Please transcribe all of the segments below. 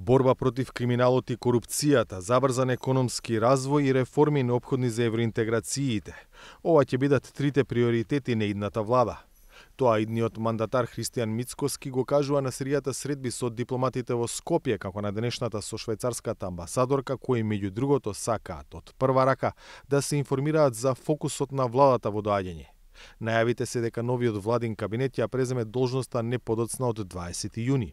Борба против криминалот и корупцијата, забрзан економски развој и реформи неопходни за евроинтеграциите. Ова ќе бидат трите приоритети на идната влада. Тоа идниот мандатар Христијан Мицкоски го кажува на серијата средби со дипломатите во Скопје, како на денешната со швајцарската амбасадорка, кои меѓу другото сакаат од прва рака да се информираат за фокусот на владата во доаѓање. Најавите се дека новиот владин кабинет ја преземе должноста не подоцна од 20 јуни.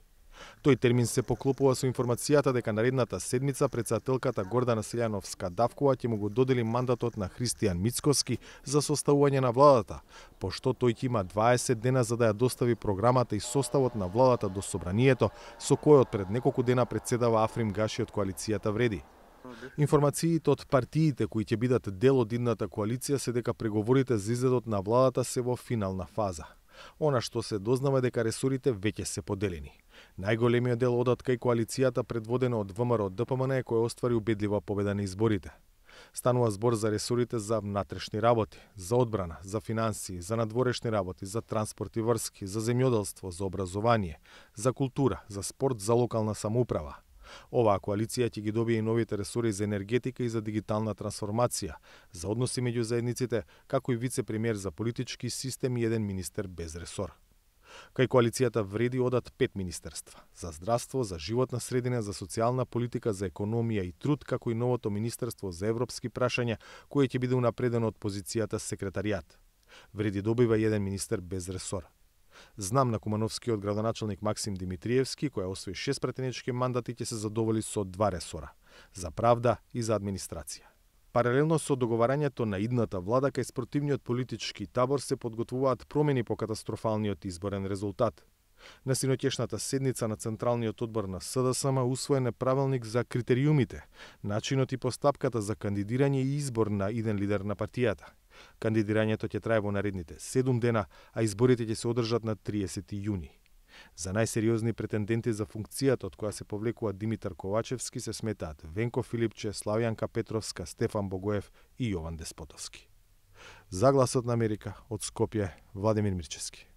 Тој термин се поклопува со информацијата дека наредната седмица претседателката Гордана Селјановска-Давкова ќе му го додели мандатот на Христијан Мицкоски за составување на владата, пошто тој ќе има 20 дена за да ја достави програмата и составот на владата до собранието, со којот пред неколку дена претседава Африм Гаши од коалицијата Вреди. Информациите од партиите кои ќе бидат дел од идната коалиција се дека преговорите за изгледот на владата се во финална фаза. Она што се дознава дека ресорите веќе се поделени. Најголемиот дел одат кај коалицијата предводена од ВМРО-ДПМН која оствари убедлива победа на изборите. Станува збор за ресорите за внатрешни работи, за одбрана, за финансии, за надворешни работи, за транспорт и врски, за земјоделство, за образование, за култура, за спорт, за локална самоуправа. Оваа коалиција ќе ги добие и новите ресори за енергетика и за дигитална трансформација, за односи меѓу заедниците, како и вице-премиер за политички систем и еден министер без ресор. Кај коалицијата Вреди одат 5 министерства: за здравство, за животна средина, за социјална политика, за економија и труд, како и новото министерство за европски прашања, кое ќе биде унапредено од позицијата секретаријат. Вреди добива еден министер без ресор. Знам на кумановскиот градоначалник Максим Димитриевски, која освои 6 претенечки мандати, ќе се задоволи со 2 ресора – за правда и за администрација. Паралелно со договарањето на идната влада, кај спротивниот политички табор се подготвуваат промени по катастрофалниот изборен резултат. На синоќешната седница на Централниот одбор на СДСМ усвоен е правилник за критериумите, начинот и постапката за кандидирање и избор на иден лидер на партијата. Кандидирањето ќе трае во наредните 7 дена, а изборите ќе се одржат на 30 јуни. За најсериозни претенденти за функцијата од која се повлекува Димитар Ковачевски се сметаат Венко Филипче, Славјанка Петровска, Стефан Богоев и Јован Деспотовски. За Гласот на Америка од Скопје, Владимир Мирчевски.